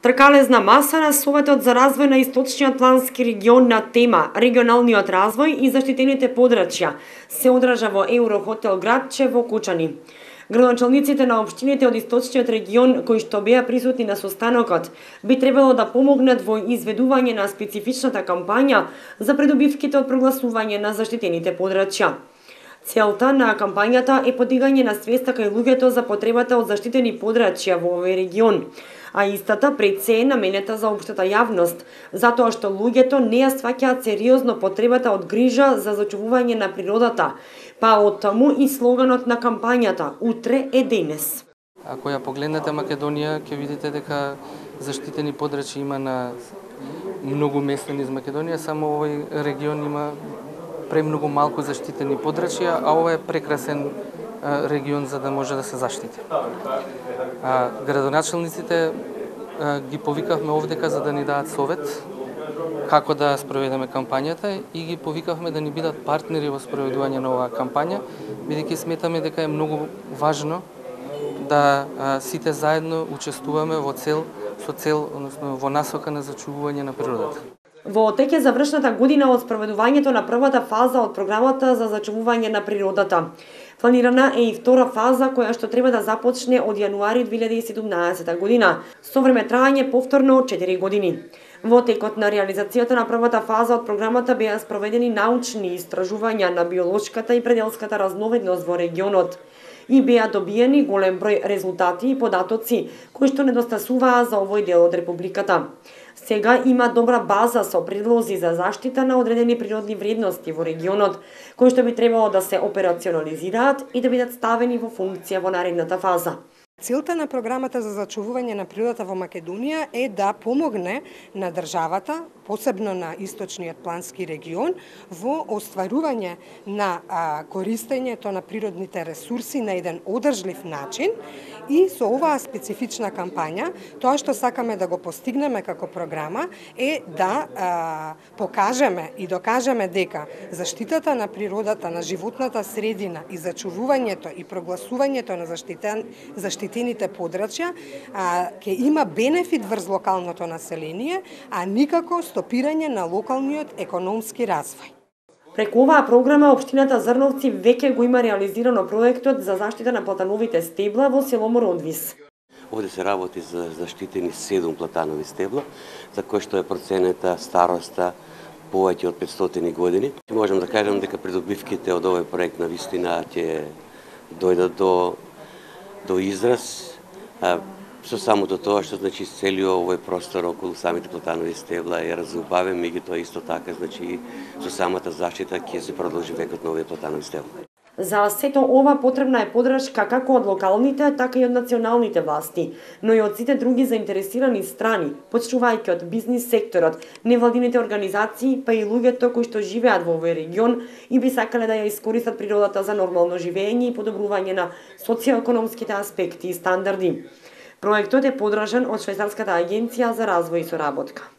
Тркалезна маса на Советот за развој на Источниот плански регион на тема регионалниот развој и заштитените подрачја се одржа во Еврохотел Градче во Кучани. Градоначалниците на општините од Источниот регион кои што беа присутни на состанокот би требало да помогнат во изведување на специфичната кампања за придобивките од прогласување на заштитените подрачја. Целта на кампањата е подигање на свеста кај луѓето за потребата од заштитени подрачја во овој регион, а истата пред се е наменета за општата јавност, затоа што луѓето не ја сваќаат сериозно потребата од грижа за зачувување на природата, па од таму и слоганот на кампањата «Утре е денес». Ако ја погледнете Македонија, ќе видите дека заштитени подрачја има на многу места низ Македонија, само овој регион има премногу малку заштитени подрачја, а ова е прекрасен регион за да може да се заштити. Градоначалниците ги повикавме овдека за да ни дадат совет како да спроведеме кампањата и ги повикавме да ни бидат партнери во спроведување на оваа кампања, бидејќи сметаме дека е многу важно да сите заедно учествуваме со цел, односно во насока на зачувување на природата. Во тек е завршната година од спроведувањето на првата фаза од програмата за зачувување на природата. Планирана е и втора фаза која што треба да започне од јануари 2017 година, со време трајање повторно од 4 години. Во текот на реализацијата на првата фаза од програмата беа спроведени научни истражувања на биолошката и пределската разновидност во регионот и беа добиени голем број резултати и податоци кои што недостасуваа за овој дел од републиката. Сега има добра база со предлози за заштита на одредени природни вредности во регионот, кои што би требало да се операционализираат и да бидат ставени во функција во наредната фаза. Целта на програмата за зачувување на природата во Македонија е да помогне на државата, посебно на Источниот плански регион, во остварување на користењето на природните ресурси на еден одржлив начин и со оваа специфична кампања, тоа што сакаме да го постигнеме како програма е да покажеме и докажеме дека заштитата на природата, на животната средина и зачувувањето и прогласувањето на заштитените подрачја ќе има бенефит врз локалното население, а никако стопирање на локалниот економски развој. Преку оваа програма, општината Зрновци веќе го има реализирано проектот за заштита на платановите стебла во село Мородвис. Овде се работи за заштитени 7 платанови стебла, за кои што е проценета староста повеќе од 500 години. Можам да кажам дека придобивките од овој проект на вистина ќе дојдат до израз со самото тоа што значи целиот овој простор околу самите платанови стебла е разубавен, меѓутоа исто така значи со самата заштита ќе се продолжи векот на овие платанови стебла. За сето ова потребна е поддршка како од локалните, така и од националните власти, но и од сите други заинтересирани страни, почнувајќи од бизнис секторот, невладините организации, па и луѓето кои што живеат во овој регион и би сакале да ја искористат природата за нормално живење и подобрување на социјоекономските аспекти и стандарди. Проектот е поддржан од Швајцарската агенција за развој и соработка.